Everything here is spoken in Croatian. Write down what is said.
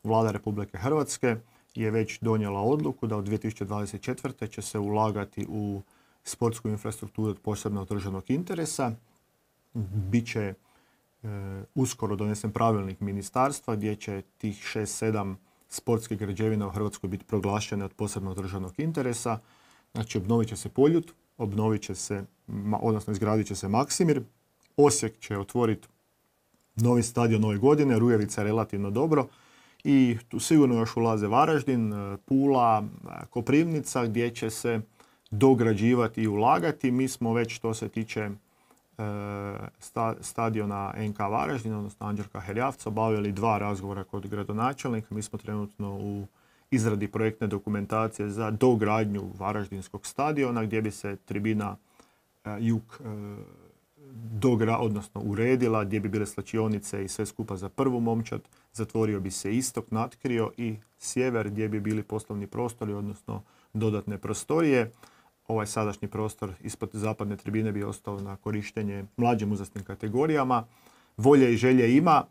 Vlada Republike Hrvatske je već donijela odluku da od 2024. će se ulagati u sportsku infrastrukturu od posebnog državnog interesa. Biće uskoro donesen pravilnik ministarstva gdje će tih 6-7 sportskih građevina u Hrvatskoj biti proglašene od posebnog državnog interesa. Znači, obnovit će se Poljud, izgradit će se Maksimir. Osijek će otvoriti novi stadion ove godine, Rujevica je relativno dobro. I tu sigurno još ulaze Varaždin, Pula, Koprivnica gdje će se dograđivati i ulagati. Mi smo već, što se tiče stadiona NK Varaždin, odnosno Anđelka Herjavca, obavili 2 razgovora kod gradonačelnika. Mi smo trenutno u izradi projektne dokumentacije za dogradnju Varaždinskog stadiona gdje bi se tribina jug uredila, gdje bi bile slačionice i sve skupa za prvu momčad. Zatvorio bi se istok, natkrio i sjever gdje bi bili poslovni prostori, odnosno dodatne prostorije. Ovaj sadašnji prostor ispod zapadne tribine bi ostao na korištenje mlađim uzrasnim kategorijama. Volje i želje ima.